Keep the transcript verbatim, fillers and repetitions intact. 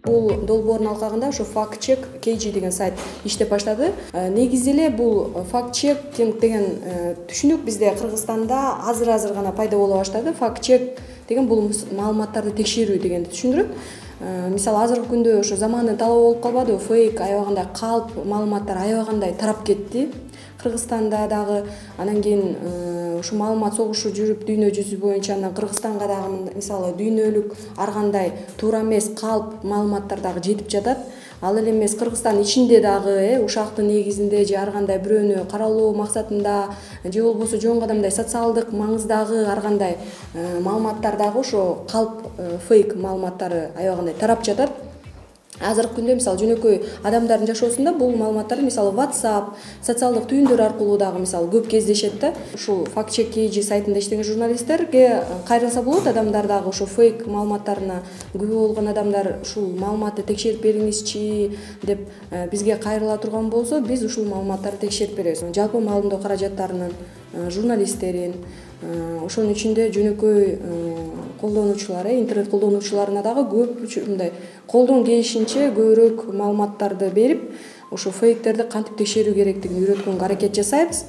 Бул долбоордун алкагында ушу факт-чек кей джи деген сайт иштеп баштады. Негизи эле бул факт-чекинг деген түшүнүк бизде Кыргызстанда азыр-азыр гана пайда боло баштады. Факт-чек деген бул маалыматтарды текшерүү дегенди түшүндүрөт. Мисалы азыркы күндө ошо замандын талабы болуп калбадыбы? Фейк, аябагандай калп маалыматтар аябагандай тарап кетти. Кыргызстанда дагы, анан кийин ушу маалымат согушу жүрүп дүйнө жүзү боюнча, анан Кыргызстанга дагы мисалы дүйнөлүк ар кандай туура эмес калп маалыматтар дагы жетип жатат. Ал эле эмес Кыргызстан ичинде дагы э ушактын негизинде же ар кандай бирөөнү каралоо максатында же болбосо жөн кадамдай социалдык маңыздагы ар кандай маалыматтар дагы ошо калп фейк маалыматтары аябагандай тарап жатат. Азыркы күндө мисалы жөнөкөй адамдардын жашоосунда бул маалыматтарды мисалы WhatsApp, социалдык түйүндөр аркылуу дагы мисалы көп кездешет да. Ушул факт-чек кей джи сайтында иштеген журналисттерге кайрылса болот. Адамдар дагы ошо фейк маалыматтарына күбө болгон адамдар ушул маалыматты текшерип бериңизчи деп бизге кайрыла турган болсо, биз ушул маалыматтарды текшерип беребиз. Жалпы маалымдоо каражаттарынын, журналисттерин, ошонун ичинде жөнөкөй колдонуучулар, интернет колдонуучуларына дагы көп мындай колдон келишинче көбүрөөк маалыматтарды берип, ошо фейктерди кантип текшерүү керектигин үйрөткөнгө аракет жасайбыз.